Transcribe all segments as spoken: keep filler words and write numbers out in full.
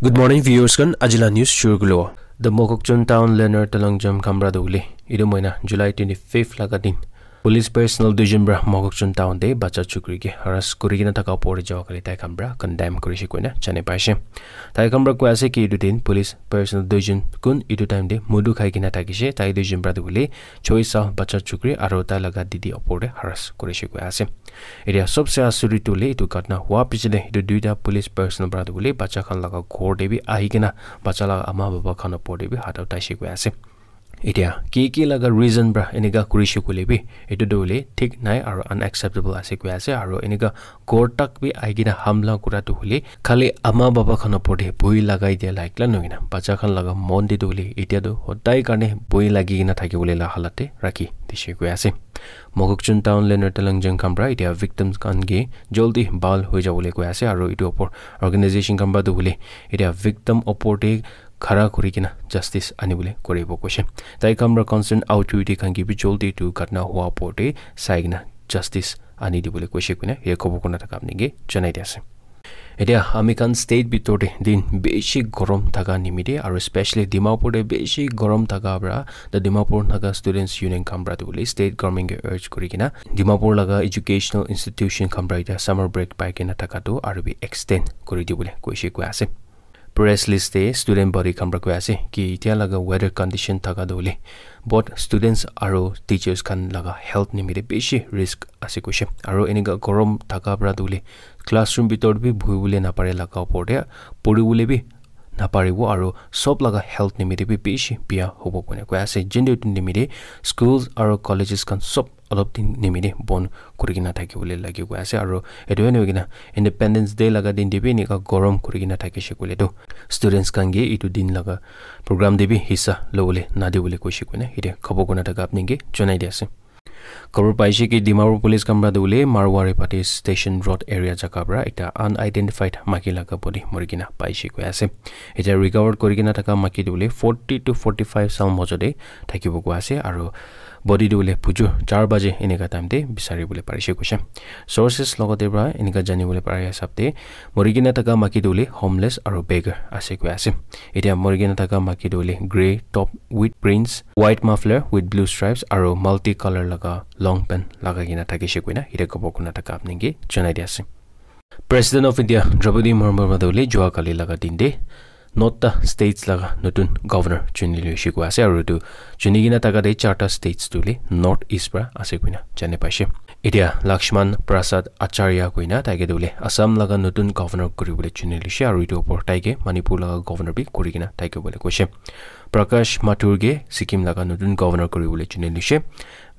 Good morning, viewers khan. Ajila news shuru kulo. The Mokokchung town learner Talangjam Khamra Dole. Idu moina July twenty-fifth laga din. Police personnel duijon pra Mokokchung town te bacha chukri ke harass kuri kena thaka opor te jawa kali tai khan pra condemn kurishe koina jane paishe. Tai khan pra koi ase ki idu din police personnel duijon kun idu time te mudu khai kena thakishe, tai duijon pra tu hule choi sal bacha chukri aro tai laga didi opor te harass kurishe koi ase. Etia sobse asuri tu hule etu ghatna hua piche te etu duita police personnel pra tu hule bacha khan laga ghor te bi ahi kena bacha laga ama baba khan opor te bi hat uthai she koi ase. Etia ki ki laga reason pra enika kurishe koile bi etu tu hule thik nai aro unacceptable ase koi ase, aro enika ghor tak bi ahi kena hamla kura tu hule khali ama baba khan opor te bhoi lagai dia like la nohoi na bacha khan laga mon te tu hule etia tu hodai karne bhoi lagi kena thaki bole la halat te rakhi dishe koi ase. Mokokchung town learner Talangjam khan pra etia victims khan ke joldi bhal hoi jabole koi ase, aro etu opor organization khan pra tu hule etia victim opor te khara kuri kena justice ani bole koribo koishe. Tai khan pra concern authority khan ke bi joldi etu ghatna hua opor te sai kena justice ani dibole koishe koina ye khobo kona thaka apni ke janai di ase. Etia ami khan state bitor te din bishi gorom thaka nimite aro especially Dimapur te bishi gorom thaka pra the Dimapur Naga Students Union khan pra tu hule state government ke urge kuri kena Dimapur laga educational institution khan pra etia summer break pai kena thaka tu aro bi extend kuri dibole koishe koi ase. Press list te student body khan pra koi ase ki etia laga weather condition thaka tu hule both students aro teachers khan laga health nimite bishi risk ase koishe. Aro enika gorom thaka pra tu hule classroom bitor te bi buhi bole napare laga opor te puri bole bi naparibo aro sob laga health nimite bi bishi bia hobo koina koi ase. Jende etu nimite schools aro colleges khan sob olop din nimite bon kuri kena thaki bole lagi koi ase, aro etu hoi kena Independence Day laga din te bi enika gorom kuri kena thakishe koile tu students khan ke etu din laga program te bi hissa lobole nadi bole koishe koina yate khobo kona thaka apni ke janai di ase. Khobor paishe ki Dimapur police khan pra tu hule Marwari Pati Station Road area jaga pra ekta unidentified maki laga body mori kena paishe koi ase. Etia recovered kuri kena thaka maki tu hule forty to forty-five saal mojo te thakibo koi ase, aro body tu hule bujur char baje enika time te bisari bole parishe koishe. Sources logote pra enika jani bole pari hisab te mori kena thaka maki tu hule homeless aro beggar ase koi ase. Etia mori kena thaka maki tu hule grey top with prints, white muffler with blue stripes aro multi color laga long pant lagai kena thakishe koina yate khobo kona thaka apni ke janai di ase. President of India Draupadi Murmu pra tu hule jua kali laga din te nota states laga notun governor chuni loishe koi ase, aro etu chuni kena thaka te charta states tu hule North East pra ase koina jane paishe. Etia Lakshman Prasad Acharya koina tai ke tu hule Assam laga notun governor kuri bole chuni loishe, aro etu opor tai ke Manipur laga governor bi kuri kena thaki bole koishe. Prakash Mathur ke Sikkim laga notun governor kuri bole chuni loishe.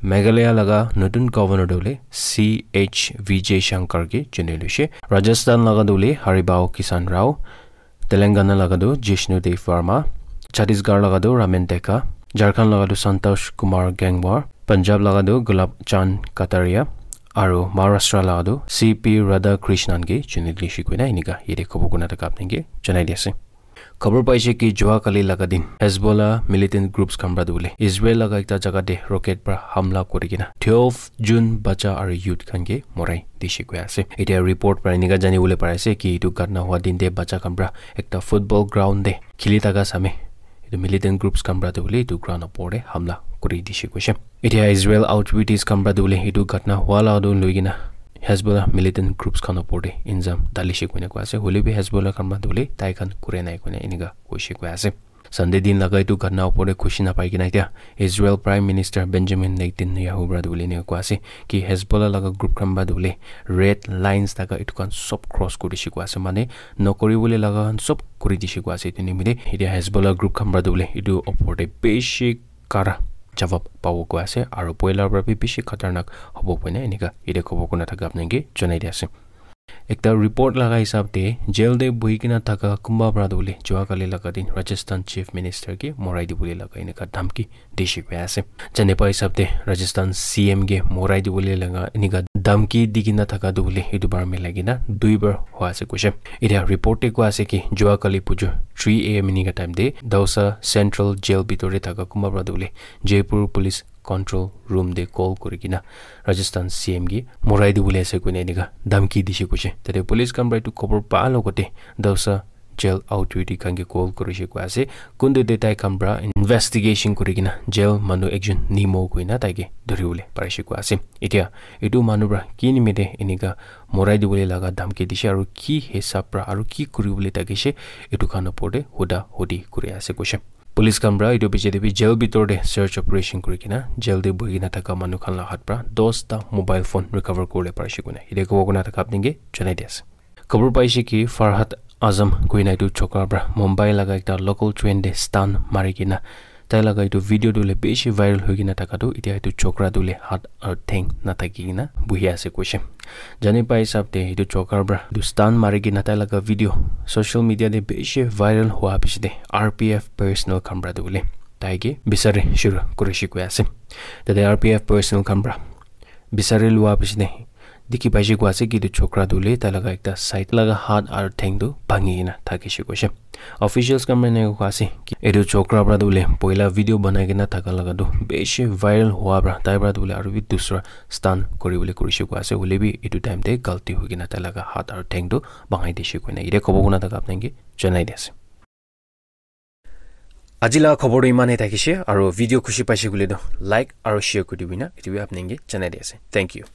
Meghalaya laga notun governor tu hule C H Vijay Shankar ke chuni loishe. Rajasthan laga tu hule Haribao Kishan Rao, Telangana laga tu Jishnu Dev Verma, Chhattisgarh laga tu Ramen Tekka, Jharkhand laga tu Santosh Kumar Gangwar, Punjab laga tu Gulab Chand Kataria, aro Maharashtra laga tu C P Radhakrishnan ke chuni loishe koina enika yate khobo kona thaka apni ke janai di ase. Khobor paishe ki jua kali laga din Hezbollah militant groups khan pra tu hule Israel laga ekta jaga te rocket pra hamla kuri kena twelve June bacha aro youth khan ke morai dishe koi ase. Etia report pra enika jani bole pari ase ki etu ghatna hua din te bacha khan pra ekta football ground te khili thaka same etu militant groups khan pra tu hule etu ground opor te hamla kuri dishe koishe. Etia Israel authorities khan pra tu hule etu ghatna hua la tu loi kena Hezbollah militant groups khan opor te injam dalishe koina koi ase. Hoile bi Hezbollah khan pra tu hule tai khan kure nai koina enika koishe koi ase. Sunday din laga etu ghatna opor te khushi napai kena etia Israel Prime Minister Benjamin Netanyahu pra tu hule enika koi ase ki Hezbollah laga group khan pra tu hule red lines thaka etu khan sob cross kuri dishe koi ase, mane nokori bole laga khan sob kuri dishe koi ase. Etu nimite etia Hezbollah group khan pra tu hule etu opor te bishi kara jawab pabo koi ase, aro poila pra bi bishi khatarnak hobo koina enika yate khobo kona thaka apni ke janai di ase. Ekta report laga hisab te jail te buhi kena thaka kunba pra tu hule jua kali laga din Rajasthan Chief Minister ke morai dibole laga enika dhamki dishe koi ase. Jane pa hisab te Rajasthan C M ke morai dibole laga enika dhamki di kena thaka tu hule etu bar milai kena dui bar hua ase koishe. Etia report te koi ase ki jua kali bujur three A M enika time te Dausa Central Jail bitor te thaka kunba pra tu hule Jaipur Police Control Room te call kuri kena Rajasthan C M ke morai dibole ase koina enika dhamki dishe koishe. Tate police khan pra etu khobor pa logote Dausa jail authority khan ke call kurishe koi ase. Kuntu te tai khan pra investigation kuri kena jail manu ekjon Nemo koina tai ke dhuribole parishe koi ase. Etia etu manu pra ki nimite enika morai dibole laga dhamki dishe aru ki hisab pra aru ki kuribole thakishe etu khan opor te huda hudi kuri ase koishe. Police khan pra etu piche te bi jail bitor te search operation kuri kena jail te buhi kena thaka manu khan la hat pra dos ta mobile phone recover kuribole parishe koina etia kobo koina thaka apni ke janai di ase. Khobor paishe ki Farhad Azam koina etu chokra pra Mumbai laga ekta local train te stun mari kena tai laga etu video tu le bishi viral hoi kena thaka tu etia etu chokra tu le hat aru theng na thaki kena buhi ase koishe. Jani pai hisab te etu chokra pra etu stun mari kena tai laga video social media te bishi viral hua piche te R P F personnel khan pra tu le tai ke bisari shuru kurishe koi ase. Tate R P F personnel khan pra bisari lua piche te dikhi paishe koi ase ki etu chokra tu le tai laga ekta side laga hat aru theng tu bhangi kena thakishe koishe. Officials khan pra enika koi ase ki etu chokra pra tu le poila video banai kena thaka laga tu bishi viral hua pra tai pra tu le aru bi dusra stun kuribole kurishe koi ase hoile bi etu time te galti hoi kena tai laga hat aru theng tu bhangai dishe koina etia kobo koina thaka apni ke janai di ase. Aji laga khobor tu iman he thakishe, aru video khushi paishe koile tu like aru share kuri dibi na, etu bi apni ke janai di ase. Thank you.